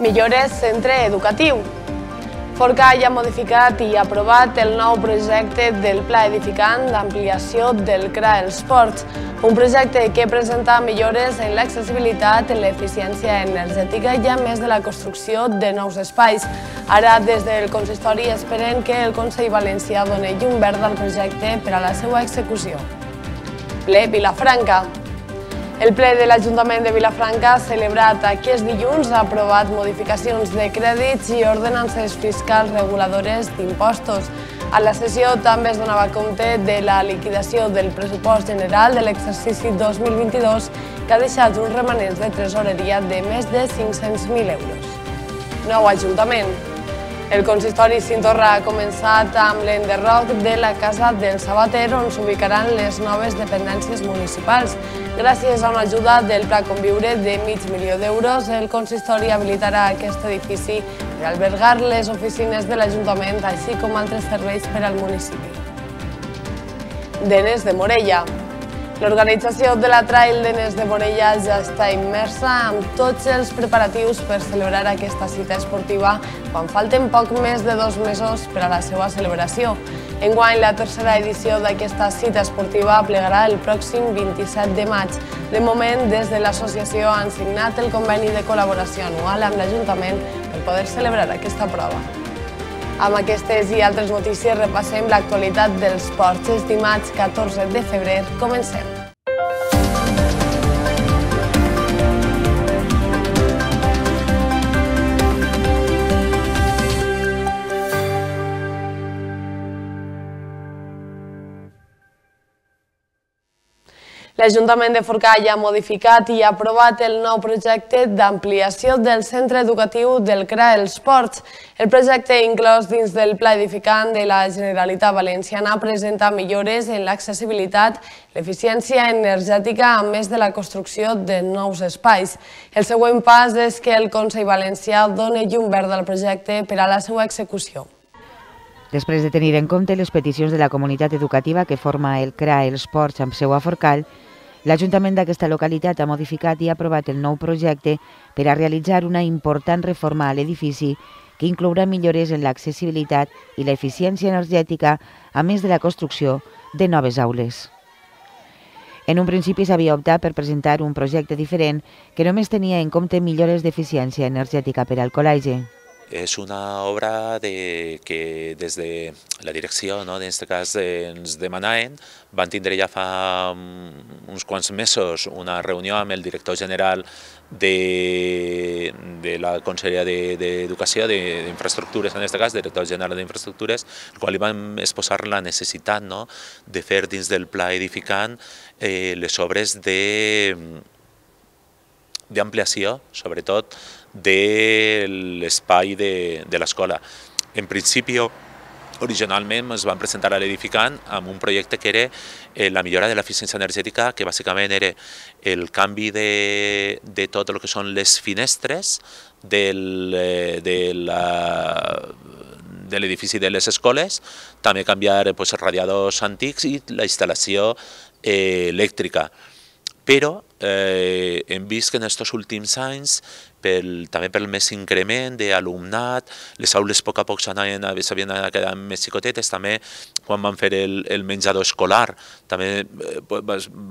Millores centre educatiu. Forcall ha modificat i aprovat el nou projecte del Pla Edificant d'ampliació del CRA Esports, un projecte que presenta millores en l'accessibilitat, l'eficiència energètica i a més de la construcció de nous espais. Ara, des del consistori, esperen que el Consell Valencià doni llum verda al projecte per a la seva execució. Ple Vilafranca. El ple de l'Ajuntament de Vilafranca, celebrat aquest dilluns, ha aprovat modificacions de crèdits i ordenances fiscals reguladores d'impostos. A la sessió també es donava compte de la liquidació del pressupost general de l'exercici 2022, que ha deixat uns remanents de tresoreria de més de 500.000 euros. Nou Ajuntament. El consistori Cintorra ha començat amb l'enderroc de la Casa del Sabater, on s'ubicaran les noves dependències municipals. Gràcies a una ajuda del Pla Conviure de €500.000, el consistori habilitarà aquest edifici per albergar les oficines de l'Ajuntament, així com altres serveis per al municipi. Denes de Morella. L'organització de la Trail Denes de Morella ja està immersa amb tots els preparatius per celebrar aquesta cita esportiva quan falten poc més de 2 mesos per a la seva celebració. Enguany, la tercera edició d'aquesta cita esportiva plegarà el pròxim 27 de maig. De moment, des de l'associació han signat el conveni de col·laboració anual amb l'Ajuntament per poder celebrar aquesta prova. Amb aquestes i altres notícies repassem l'actualitat dels ports. És dimarts 14 de febrer. Comencem. L'Ajuntament de Forcall ha modificat i aprovat el nou projecte d'ampliació del centre educatiu del CRA Esports. El projecte, inclòs dins del Pla Edificant de la Generalitat Valenciana, presenta millores en l'accessibilitat, l'eficiència energètica, a més de la construcció de nous espais. El següent pas és que el Consell Valencià doni llum verda al projecte per a la seva execució. Després de tenir en compte les peticions de la comunitat educativa que forma el CRA Esports amb seu a Forcall, l'Ajuntament d'aquesta localitat ha modificat i ha aprovat el nou projecte per a realitzar una important reforma a l'edifici que inclourà millores en l'accessibilitat i l'eficiència energètica, a més de la construcció de noves aules. En un principi s'havia optat per presentar un projecte diferent que només tenia en compte millores d'eficiència energètica per al col·legi. És una obra que des de la direcció, en aquest cas, ens demanaven. Van tindre ja fa uns quants mesos una reunió amb el director general de la Conselleria d'Educació, d'Infraestructures, en aquest cas, director general d'Infraestructures, el qual li vam exposar la necessitat de fer dins del pla edificant les obres d'ampliació, sobretot, de l'espai de l'escola. En principi, originalment es van presentar a l'edificant amb un projecte que era la millora de l'eficiència energètica, que bàsicament era el canvi de tot el que són les finestres de l'edifici de les escoles, també canviar els radiadors antics i la instal·lació elèctrica. Però hem vist que en aquests últims anys, també pel més increment d'alumnat, les aules a poc a poc s'havien quedat més xicotetes, també quan van fer el menjador escolar, també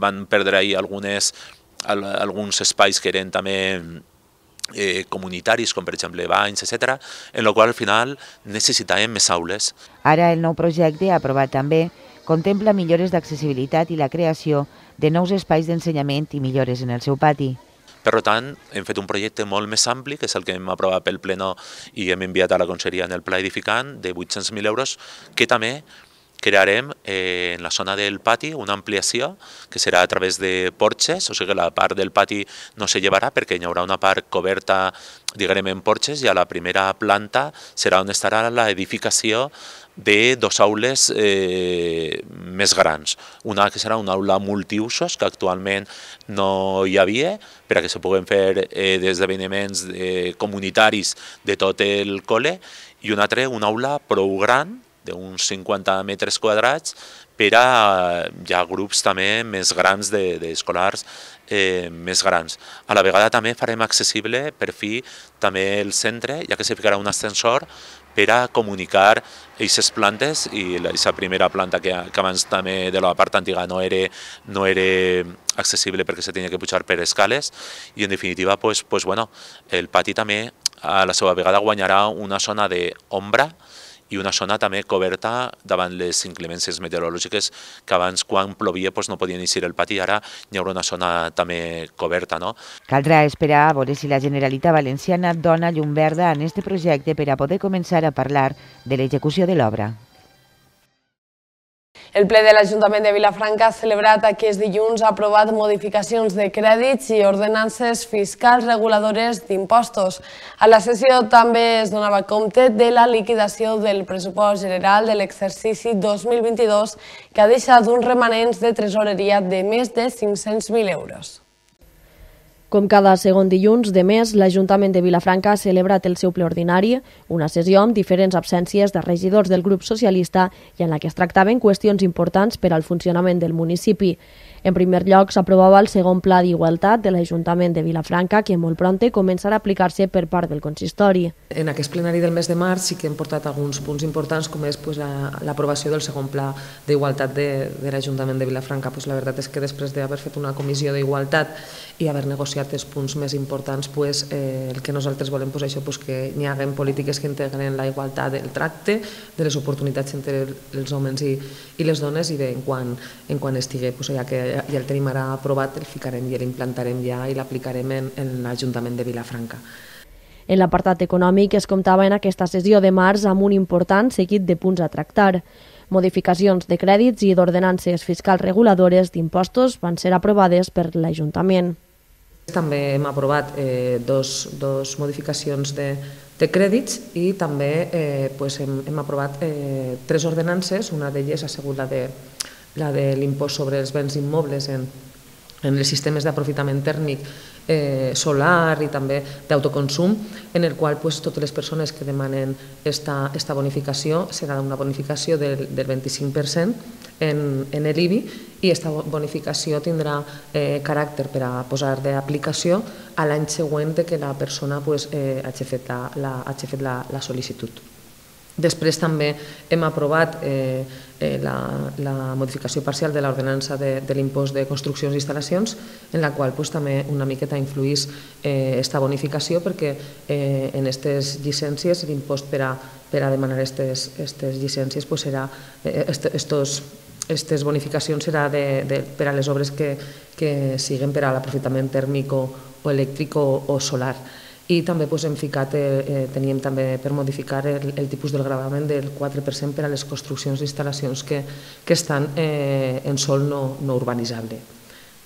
van perdre ahir alguns espais que eren també comunitaris, com per exemple banys, etc., en el qual al final necessitàvem més aules. Ara el nou projecte, aprovat també, contempla millores d'accessibilitat i la creació de nous espais d'ensenyament i millores en el seu pati. Per tant, hem fet un projecte molt més ampli, que és el que hem aprovat pel Pleno i hem enviat a la Conselleria en el Pla Edificant, de 800.000 euros, que també crearem en la zona del pati una ampliació que serà a través de porxes, o sigui que la part del pati no se llevarà perquè hi haurà una part coberta, diguem, en porxes, i a la primera planta serà on estarà l'edificació de 2 aules més grans. Una que serà una aula multiusos, que actualment no hi havia, per a que se puguen fer esdeveniments comunitaris de tot el col·le, i una altra, una aula prou gran, d'uns 50 metres quadrats per a ja grups també més grans d'escolars més grans. A la vegada també farem accessible per fi també el centre, ja que se ficarà un ascensor per a comunicar aquestes plantes i aquesta primera planta que abans també de la part antiga no era accessible perquè se tenia que pujar per escales i en definitiva el pati també a la seva vegada guanyarà una zona d'ombra i una zona també coberta davant les inclemències meteorològiques que abans quan plovia no podien eixir el pati, ara hi haurà una zona també coberta. No? Caldrà esperar a veure si la Generalitat Valenciana dona llum verda en aquest projecte per a poder començar a parlar de l'execució de l'obra. El ple de l'Ajuntament de Vilafranca ha celebrat aquest dilluns ha aprovat modificacions de crèdits i ordenances fiscals reguladores d'impostos. A la sessió també es donava compte de la liquidació del pressupost general de l'exercici 2022 que ha deixat uns remanents de tresoreria de més de 500.000 euros. Com cada segon dilluns de mes, l'Ajuntament de Vilafranca ha celebrat el seu ple ordinari, una sessió amb diferents absències de regidors del grup socialista i en la que es tractaven qüestions importants per al funcionament del municipi. En primer lloc, s'aprovava el segon pla d'igualtat de l'Ajuntament de Vilafranca, que molt prompte començarà a aplicar-se per part del consistori. En aquest plenari del mes de març sí que hem portat alguns punts importants, com és l'aprovació del segon pla d'igualtat de l'Ajuntament de Vilafranca. La veritat és que després d'haver fet una comissió d'igualtat i haver negociat els punts més importants, el que nosaltres volem és això, que hi hagi polítiques que integren la igualtat del tracte, de les oportunitats entre els homes i les dones, i en quan estigui, ja que ja el tenim ara aprovat, el ficarem i l'implantarem ja i l'aplicarem en l'Ajuntament de Vilafranca. En l'apartat econòmic es comptava en aquesta sessió de març amb un important seguit de punts a tractar. Modificacions de crèdits i d'ordenances fiscals reguladores d'impostos van ser aprovades per l'Ajuntament. També hem aprovat dos modificacions de crèdits i també hem aprovat 3 ordenances. Una d'elles ha sigut la de l'impost sobre els béns immobles en els sistemes d'aprofitament tèrmic solar i també d'autoconsum, en el qual totes les persones que demanen aquesta bonificació serà una bonificació del 25% en l'IBI, i aquesta bonificació tindrà caràcter per a posar d'aplicació a l'any següent que la persona hagi fet la sol·licitud. Després també hem aprovat la modificació parcial de l'ordenança de l'impost de construccions i instal·lacions, en la qual també una miqueta influís aquesta bonificació, perquè en aquestes llicències l'impost per a demanar aquestes llicències serà, aquestes bonificacions serà per a les obres que siguin per a l'aprofitament tèrmic o elèctric o solar. I també teníem també per modificar el tipus del gravament del 4% per a les construccions i instal·lacions que estan en sòl no urbanitzable.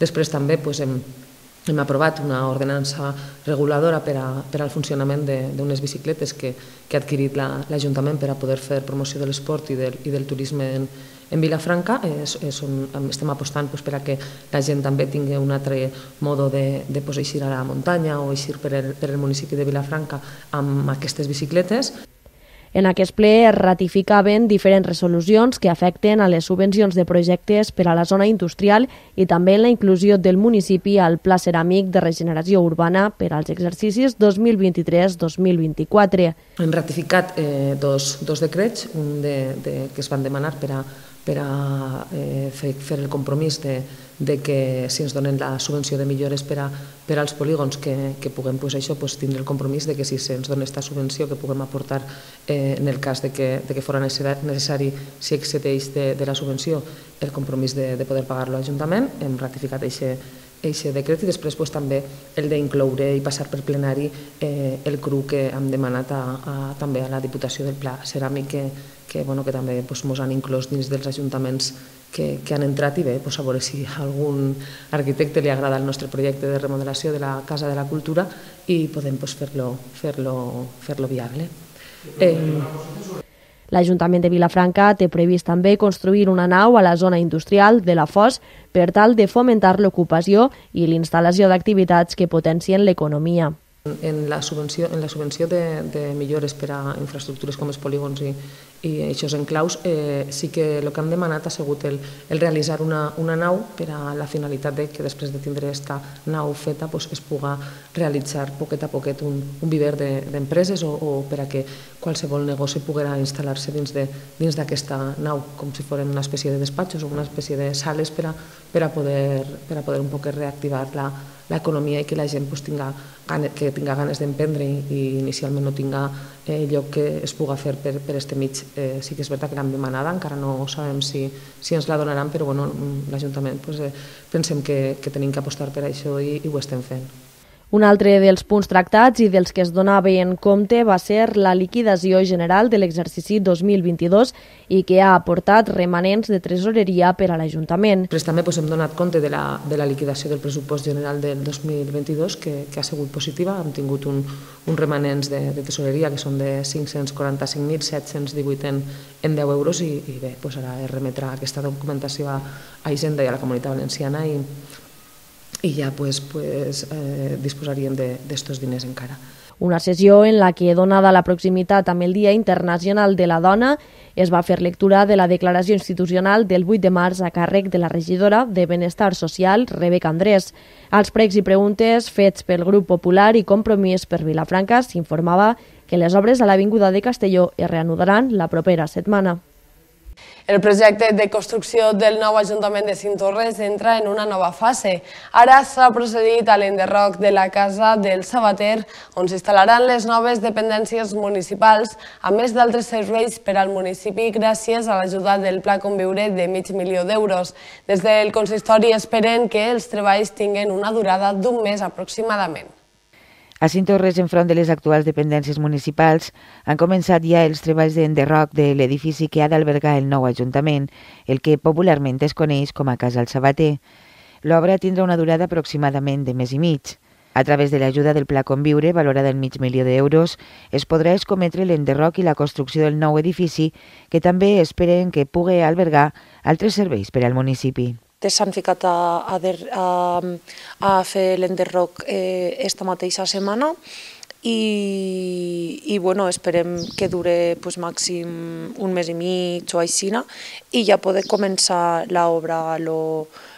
Després també hem aprovat una ordenança reguladora per al funcionament d'unes bicicletes que ha adquirit l'Ajuntament per a poder fer promoció de l'esport i del turisme en Vilafranca. Estem apostant per a que la gent també tingui un altre mode de eixir a la muntanya o eixir per el municipi de Vilafranca amb aquestes bicicletes. En aquest ple es ratificaven diferents resolucions que afecten a les subvencions de projectes per a la zona industrial i també la inclusió del municipi al Pla Ceràmic de Regeneració Urbana per als exercicis 2023-2024. Hem ratificat dos decrets, un que es van demanar per a fer el compromís de que si ens donen la subvenció de millores per als polígons que puguem tindre el compromís de que si se'ns dona aquesta subvenció que puguem aportar en el cas de que fos necessari, si excedeix de la subvenció, el compromís de poder pagar-lo a l'Ajuntament. Hem ratificat aquest decret i després també el d'incloure i passar per plenari el CRU que hem demanat també a la Diputació del Pla Ceràmic, que també ens han inclòs dins dels ajuntaments que han entrat, i bé, a veure si a algun arquitecte li agrada el nostre projecte de remodelació de la Casa de la Cultura i podem fer-lo viable. L'Ajuntament de Vilafranca té previst també construir una nau a la zona industrial de la Foz per tal de fomentar l'ocupació i l'instal·lació d'activitats que potencien l'economia. En la subvenció de millores per a infraestructures com els polígons i aquests enclaus, sí que el que hem demanat ha sigut el realitzar una nau per a la finalitat que després de tindre aquesta nau feta es puga realitzar poquet a poquet un viver d'empreses o per a que qualsevol negoci poguera instal·lar-se dins d'aquesta nau, com si fos una espècie de despatxos o una espècie de sales per a poder un poc reactivar l'economia i que la gent tinga ganes d'emprendre i inicialment no tinga lloc que es puga fer per este mig. Sí que és veritat que l'hem demanada, encara no sabem si ens la donaran, però l'Ajuntament pensem que tenim que apostar per això i ho estem fent. Un altre dels punts tractats i dels que es donava en compte va ser la liquidació general de l'exercici 2022 i que ha aportat remanents de tresoreria per a l'Ajuntament. Després també hem donat compte de la liquidació del pressupost general del 2022 que ha sigut positiva. Hem tingut uns remanents de tresoreria que són de 545.718 en 10 euros i bé, ara es remetrà aquesta documentació a Hisenda i a la Comunitat Valenciana i ja disposaríem d'estos diners encara. Una sessió en la que, donada la proximitat amb el Dia Internacional de la Dona, es va fer lectura de la declaració institucional del 8 de març a càrrec de la regidora de Benestar Social, Rebeca Andrés. Als pregs i preguntes fets pel Grup Popular i Compromís per Vilafranca s'informava que les obres a l'Avinguda de Castelló es reanudaran la propera setmana. El projecte de construcció del nou Ajuntament de Cinctorres entra en una nova fase. Ara s'ha procedit a l'enderroc de la Casa del Sabater, on s'instal·laran les noves dependències municipals, a més d'altres serveis per al municipi gràcies a l'ajuda del Pla Conviure de $500.000 d'euros. Des del consistori esperen que els treballs tinguin una durada d'un mes aproximadament. A Cinctorres, enfront de les actuals dependències municipals, han començat ja els treballs d'enderroc de l'edifici que ha d'albergar el nou Ajuntament, el que popularment es coneix com a Casa del Sabater. L'obra tindrà una durada aproximadament de mes i mig. A través de l'ajuda del Pla Conviure, valorada en $500.000 d'euros, es podrà escometre l'enderroc i la construcció del nou edifici, que també esperen que pugui albergar altres serveis per al municipi. S'han ficat a fer l'enderroc esta mateixa setmana i esperem que dure màxim un mes i mig o així i ja poder començar l'obra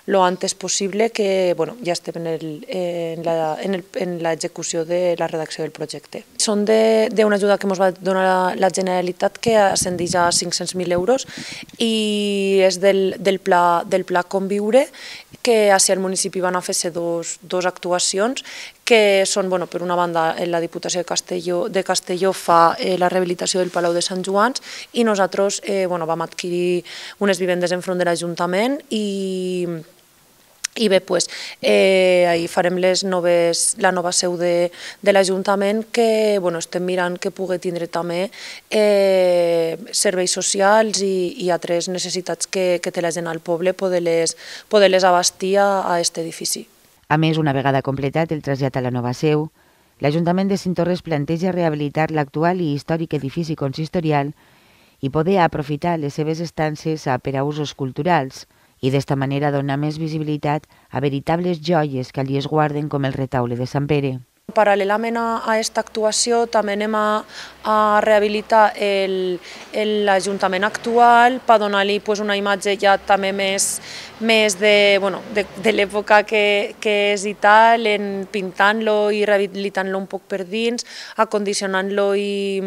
lo antes possible, que ja estem en l'execució de la redacció del projecte. Són d'una ajuda que ens va donar la Generalitat que ascendeix a 500.000 euros i és del Pla Conviure, que hacia el municipi van a fer-se dos actuacions que són, per una banda, la Diputació de Castelló fa la rehabilitació del Palau de Sant Joans i nosaltres vam adquirir unes vivendes enfront de l'Ajuntament i bé, ahir farem la nova seu de l'Ajuntament, que estem mirant que pugui tindre també serveis socials i altres necessitats que té la gent al poble, poder-les abastir a aquest edifici. A més, una vegada completat el trasllat a la nova seu, l'Ajuntament de Cinctorres planteja rehabilitar l'actual i històric edifici consistorial i poder aprofitar les seves estances per a usos culturals, i d'esta manera donar més visibilitat a veritables joies que allí es guarden com el retaule de Sant Pere. Paral·lelament a aquesta actuació també anem a rehabilitar l'Ajuntament actual per donar-li una imatge ja també més de l'època que és i tal, pintant-lo i rehabilitant-lo un poc per dins, acondicionant-lo i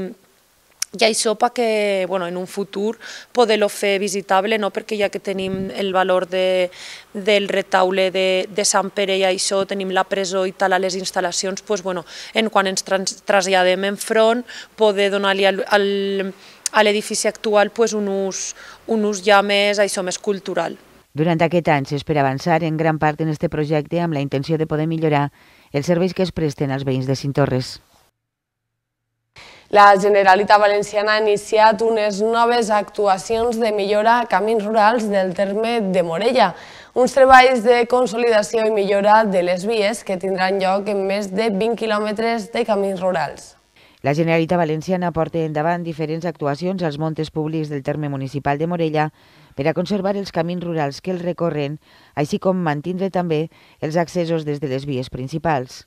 això perquè en un futur poder-lo fer visitable, perquè ja que tenim el valor del retaule de Sant Pere i això, tenim la presó i tal a les instal·lacions, quan ens traslladem enfront, poder donar-li a l'edifici actual un ús ja més cultural. Durant aquest any s'espera avançar en gran part en aquest projecte amb la intenció de poder millorar els serveis que es presten als veïns de Cinctorres. La Generalitat Valenciana ha iniciat unes noves actuacions de millora a camins rurals del terme de Morella, uns treballs de consolidació i millora de les vies que tindran lloc en més de 20 quilòmetres de camins rurals. La Generalitat Valenciana porta endavant diferents actuacions als montes públics del terme municipal de Morella per a conservar els camins rurals que els recorren, així com mantindre també els accessos des de les vies principals.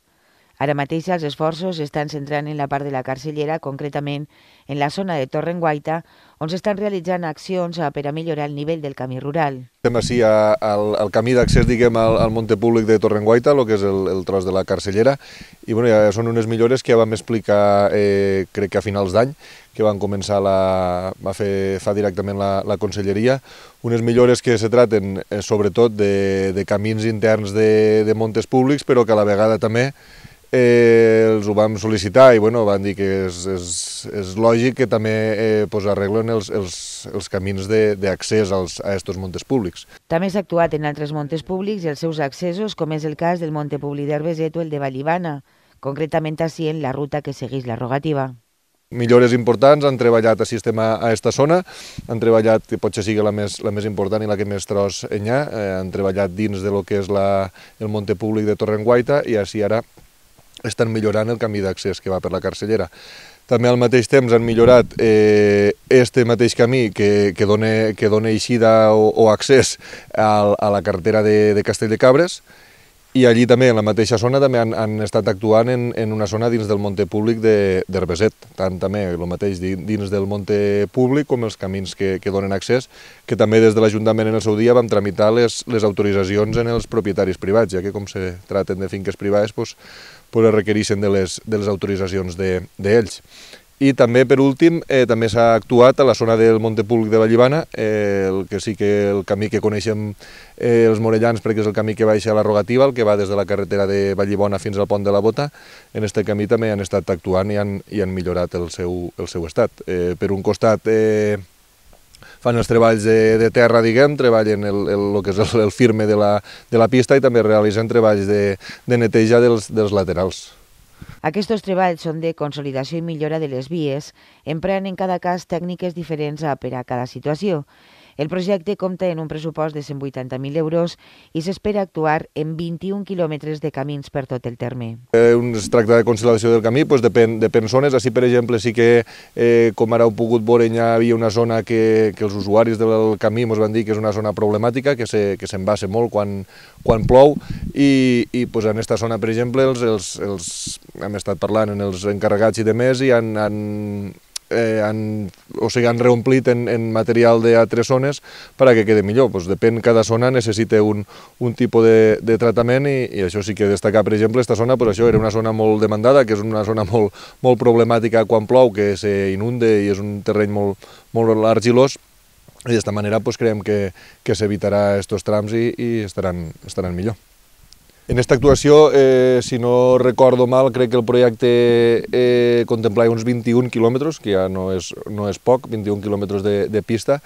Ara mateix els esforços s'estan centrant en la part de la Carcellera, concretament en la zona de Torrenguaita, on s'estan realitzant accions per a millorar el nivell del camí rural. Estem així al camí d'accés, diguem, al Monte Públic de Torrenguaita, el que és el tros de la Carcellera, i bueno, ja són unes millores que ja vam explicar, crec que a finals d'any, que van començar fa directament la Conselleria, unes millores que se traten sobretot de camins interns de montes públics, però que a la vegada també els ho vam sol·licitar i bueno, van dir que és lògic que també arreglen els camins d'accés a aquests montes públics. També s'ha actuat en altres montes públics i els seus accessos, com és el cas del Monte Públic d'Herbeset o el de Vallibana, concretament així en la ruta que segueix la rogativa. Millores importants, han treballat a sistema a aquesta zona, han treballat, que potser sigui la més important i la que més tros hi ha, han treballat dins de lo que és el Monte Públic de Torrenguaita i així ara estan millorant el camí d'accés que va per la Carcellera. També al mateix temps han millorat este mateix camí que dona eixida o accés a la carretera de Castell de Cabres, i allí també, en la mateixa zona, també han estat actuant en una zona dins del Monte Públic d'Herbeset, tant també el mateix dins del Monte Públic com els camins que donen accés, que també des de l'Ajuntament en el seu dia vam tramitar les autoritzacions en els propietaris privats, ja que com se traten de finques privades, es requereixen de les autoritzacions d'ells. I també, per últim, també s'ha actuat a la zona del Monte Públic de Vallibana, que sí que el camí que coneixem els morellans, perquè és el camí que baixa a la rogativa, el que va des de la carretera de Vallibona fins al pont de la Bota. En aquest camí també han estat actuant i han millorat el seu estat. Per un costat fan els treballs de terra, diguem, treballen el que és el firme de la pista i també realitzen treballs de neteja dels laterals. Aquests treballs són de consolidació i millora de les vies, emprant en cada cas tècniques diferents per a cada situació. El projecte compta en un pressupost de 180.000 euros i s'espera actuar en 21 quilòmetres de camins per tot el terme. Es tracta de consolidació del camí, depèn zones. Així, per exemple, sí que, com ara heu pogut veure, hi havia una zona que els usuaris del camí ens van dir que és una zona problemàtica, que s'embassa molt quan plou, i en aquesta zona, per exemple, hem estat parlant amb els encarregats i demés i han reomplit en material d'altres zones perquè quedi millor. Depèn, cada zona necessita un tipus de tractament i això sí que destacar, per exemple, aquesta zona, això era una zona molt demandada, que és una zona molt problemàtica quan plou, que s'inunde i és un terreny molt argilós, i d'esta manera creiem que s'evitarà aquests trams i estaran millor. En aquesta actuació, si no recordo mal, crec que el projecte contemplava uns 21 quilòmetres, que ja no és poc, 21 quilòmetres de pista,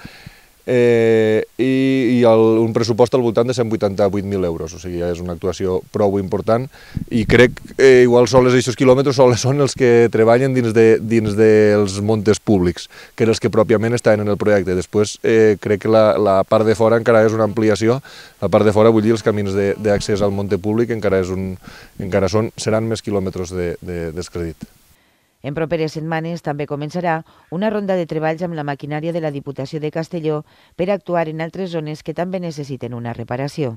i un pressupost al voltant de 188.000 euros, o sigui, és una actuació prou important i crec que igual sols aquests quilòmetres són els que treballen dins dels montes públics, que eren els que pròpiament estaven en el projecte. Després crec que la part de fora encara és una ampliació, la part de fora vull dir els camins d'accés al monte públic seran més quilòmetres descredit. En properes setmanes també començarà una ronda de treballs amb la maquinària de la Diputació de Castelló per actuar en altres zones que també necessiten una reparació.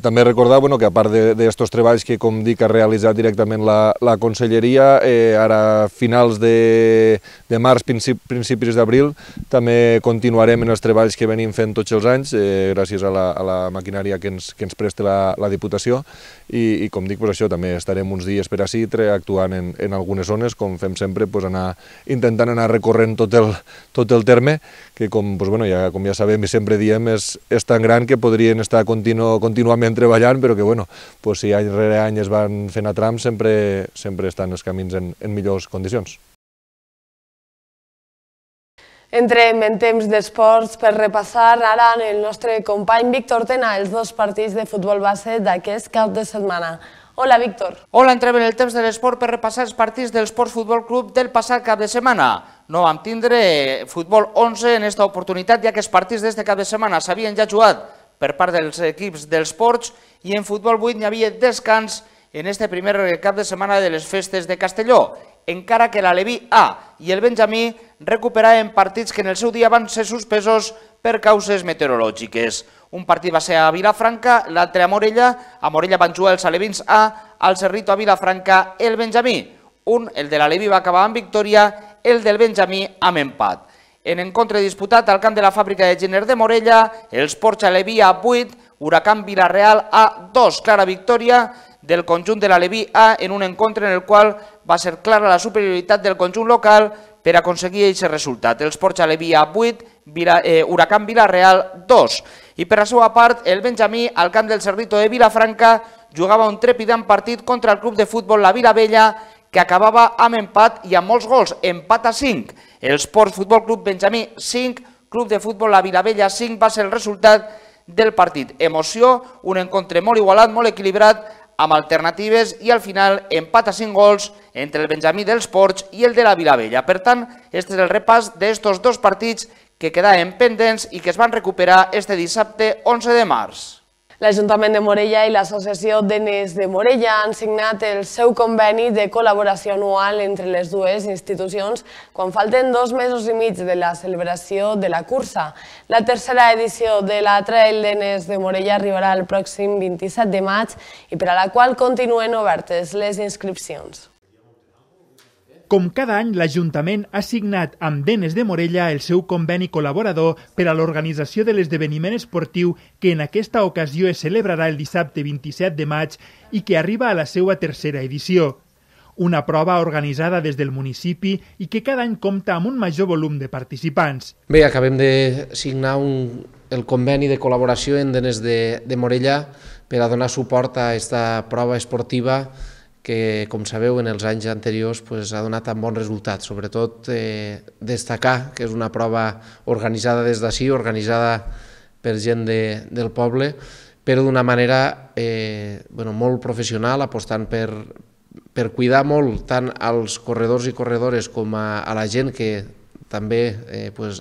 També recordar que a part d'aquests treballs que, com dic, ha realitzat directament la Conselleria, ara a finals de març, principis d'abril, també continuarem en els treballs que venim fent tots els anys, gràcies a la maquinària que ens presta la Diputació, i com dic, també estarem uns dies per ací actuant en algunes zones, com fem sempre, intentant anar recorrent tot el terme, que com ja sabem i sempre diem, és tan gran que podrien estar contínuament treballant, però que si any rere any es van fent a trams, sempre estan els camins en millors condicions. Entrem en temps d'esports per repassar ara amb el nostre company Víctor Tena els dos partits de futbol base d'aquest cap de setmana. Hola, Víctor. Hola, entrem en el temps de l'esport per repassar els partits del Sports Futbol Club del passat cap de setmana. No vam tindre futbol 11 en aquesta oportunitat, ja que els partits d'este cap de setmana s'havien ja jugat per part dels equips dels Ports i en futbol 8 n'hi havia descans en este primer cap de setmana de les festes de Castelló, encara que l'Aleví A i el Benjamí recuperaven partits que en el seu dia van ser suspesos per causes meteorològiques. Un partit va ser a Vilafranca, l'altre a Morella. A Morella van jugar els alevins A, al Cerrito a Vilafranca el Benjamí. El de l'Aleví va acabar amb victòria, el del Benjamí amb empat. En encontre disputat al camp de la fàbrica de Gener de Morella, els Ports Aleví a 8, Huracán Vilareal a 2. Clara victòria del conjunt de l'Aleví A en un encontre en el qual va ser clara la superioritat del conjunt local per aconseguir aquest resultat. Els Ports Aleví a 8, Huracán Vilareal 2. I per la seva part, el Benjamí, al camp del Cerrito de Vilafranca, jugava un trepidant partit contra el club de futbol La Vilavella, que acabava amb empat i amb molts gols, empat a 5. El Sports Futbol Club Benjamí 5, Club de Futbol La Vilavella 5 va ser el resultat del partit. Emoció, un encontre molt igualat, molt equilibrat, amb alternatives i al final empat a 5 gols entre el Benjamí dels Ports i el de la Vilavella. Per tant, este és el repàs d'estos dos partits que quedaven pendents i que es van recuperar este dissabte 11 de març. L'Ajuntament de Morella i l'Associació d'Enes de Morella han signat el seu conveni de col·laboració anual entre les dues institucions quan falten 2 mesos i mig de la celebració de la cursa. La tercera edició de la Trail d'Enes de Morella arribarà el pròxim 27 de maig i per a la qual continuen obertes les inscripcions. Com cada any, l'Ajuntament ha signat amb Denes de Morella el seu conveni col·laborador per a l'organització de l'esdeveniment esportiu que en aquesta ocasió es celebrarà el dissabte 27 de maig i que arriba a la seva tercera edició. Una prova organitzada des del municipi i que cada any compta amb un major volum de participants. Bé, acabem de signar el conveni de col·laboració en Denes de Morella per a donar suport a aquesta prova esportiva que, com sabeu, en els anys anteriors ha donat tan bons resultats. Sobretot destacar que és una prova organitzada des d'ací, organitzada per gent del poble, però d'una manera molt professional, apostant per cuidar molt tant als corredors i corredores com a la gent que també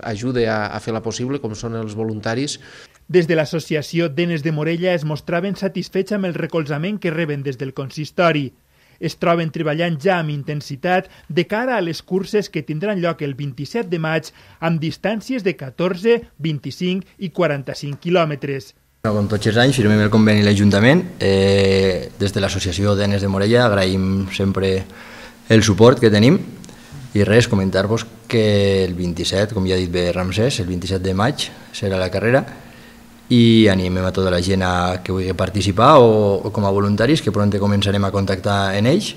ajuda a fer-la possible, com són els voluntaris. Des de l'Associació d'Enes de Morella es mostraven satisfets amb el recolzament que reben des del consistori. Es troben treballant ja amb intensitat de cara a les curses que tindran lloc el 27 de maig amb distàncies de 14, 25 i 45 quilòmetres. Com tots els anys firmem el conveni a l'Ajuntament. Des de l'Associació d'Enes de Morella agraïm sempre el suport que tenim i res, comentar-vos que el 27, com ja ha dit bé Ramsès, el 27 de maig serà la carrera i animem a tota la gent que vulgui participar o com a voluntaris, que pront començarem a contactar en ells.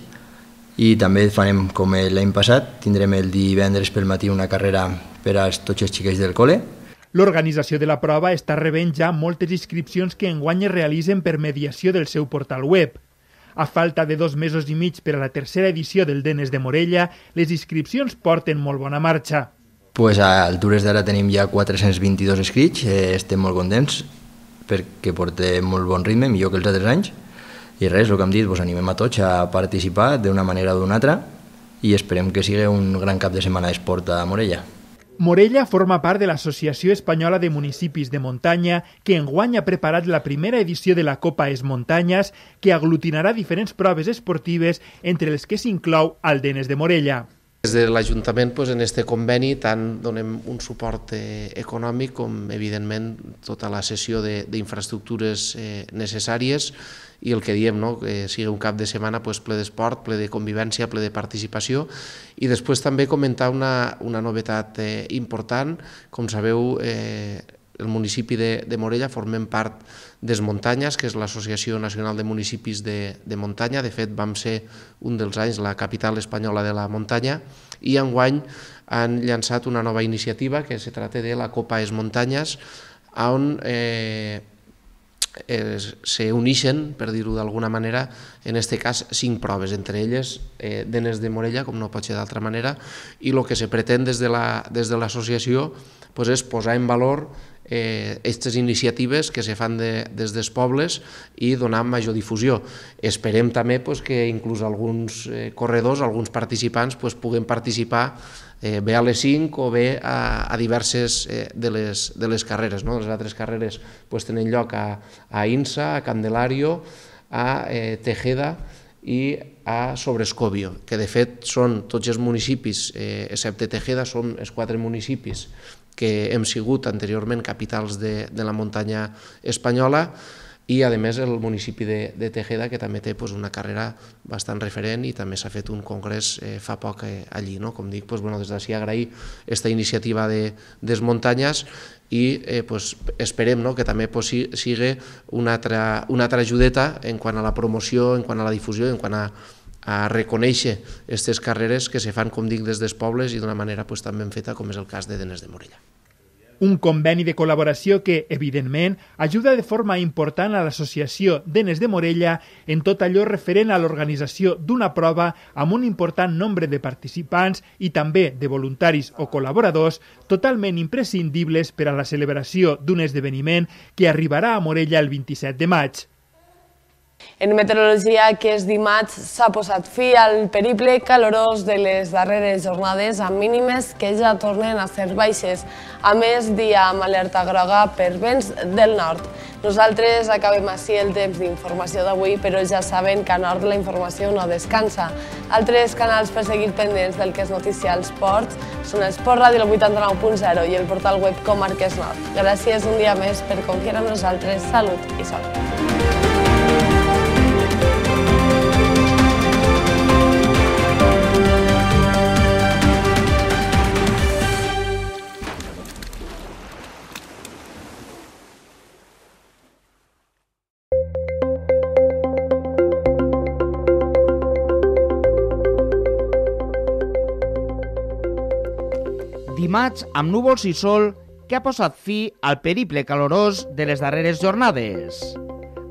I també farem com l'any passat, tindrem el divendres pel matí una carrera per a tots els xiquets del col·le. L'organització de la prova està rebent ja moltes inscripcions que enguany es realitzen per mediació del seu portal web. A falta de 2 mesos i mig per a la tercera edició del Denes de Morella, les inscripcions porten molt bona marxa. A altures d'ara tenim ja 422 inscrits, estem molt contents perquè portem molt bon ritme, millor que els altres anys. I res, el que hem dit, animem a tots a participar d'una manera o d'una altra i esperem que sigui un gran cap de setmana d'esport a Morella. Morella forma part de l'Associació Espanyola de Municipis de Muntanya, que enguany ha preparat la primera edició de la Copa Es Muntanyes, que aglutinarà diferents proves esportives, entre les que s'inclou el Denes de Morella. Des de l'Ajuntament, en aquest conveni, tant donem un suport econòmic com, evidentment, tota la cessió d'infraestructures necessàries i el que diem, que sigui un cap de setmana ple d'esport, ple de convivència, ple de participació. I després també comentar una novetat important. Com sabeu, el municipi de Morella formem part d'Es Muntanyes, que és l'Associació Nacional de Municipis de Muntanya. De fet, vam ser un dels anys la capital espanyola de la muntanya i enguany han llançat una nova iniciativa que se trata de la Copa Es Muntanyes, on se uneixen, per dir-ho d'alguna manera, en aquest cas 5 proves, entre elles Denes de Morella, com no pot ser d'altra manera, i el que se pretén des de l'associació és posar en valor aquestes iniciatives que se fan des dels pobles i donar major difusió. Esperem també que inclús alguns corredors, alguns participants, puguen participar bé a les 5 o bé a diverses de les carreres. Les altres carreres tenen lloc a Insa, a Candelario, a Tejeda i a Sobrescobio, que de fet són tots els municipis, excepte Tejeda, són els 4 municipis que hem sigut anteriorment capitals de la muntanya espanyola, i a més el municipi de Tejeda, que també té una carrera bastant referent i també s'ha fet un congrés fa poc allí. Com dic, des d'ací agrair aquesta iniciativa de les muntanyes i esperem que també sigui una altra ajudeta en quant a la promoció, en quant a la difusió, en quant a reconèixer aquestes carreres que se fan, com dic, des dels pobles i d'una manera també ben feta, com és el cas de Denes de Morella. Un conveni de col·laboració que, evidentment, ajuda de forma important a l'Associació Denes de Morella en tot allò referent a l'organització d'una prova amb un important nombre de participants i també de voluntaris o col·laboradors totalment imprescindibles per a la celebració d'un esdeveniment que arribarà a Morella el 27 de maig. En meteorologia, aquest dimarts s'ha posat fi al periple calorós de les darreres jornades amb mínimes que ja tornen a ser baixes. A més, dia amb alerta groga per vents del nord. Nosaltres acabem així el temps d'informació d'avui, però ja saben que a nord la informació no descansa. Altres canals per seguir pendents del que és notícia als ports són Esport Ràdio 89.0 i el portal web Comarques Nord. Gràcies un dia més per confiar en nosaltres. Salut i sort. Dimarts, amb núvols i sol, que ha posat fi al periple calorós de les darreres jornades.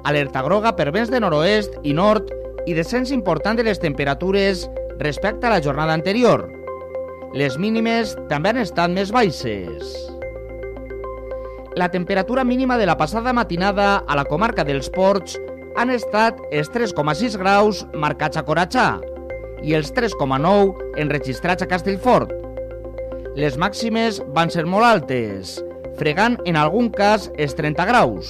Alerta groga per vents de nord-oest i nord i descens important de les temperatures respecte a la jornada anterior. Les mínimes també han estat més baixes. La temperatura mínima de la passada matinada a la comarca dels Ports han estat els 3,6 graus marcats a Coratxà i els 3,9 enregistrats a Castellfort. Les màximes van ser molt altes, fregant en algun cas els 30 graus.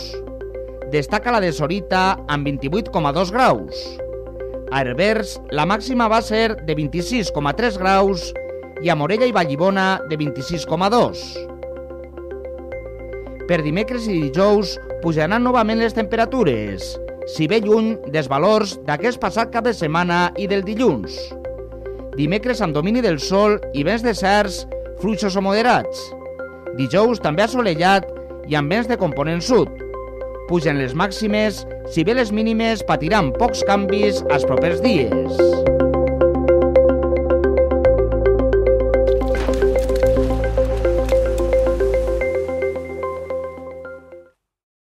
Destaca la de Sorita amb 28,2 graus. A Herbers la màxima va ser de 26,3 graus i a Morella i Vallibona de 26,2. Per dimecres i dijous pujaran novament les temperatures, si bé lluny dels valors d'aquest passat cap de setmana i del dilluns. Dimecres amb domini del sol i vents deserts, fluixos o moderats. Dijous també assolellat i amb vents de component sud. Pugen les màximes, si bé les mínimes patiran pocs canvis als propers dies.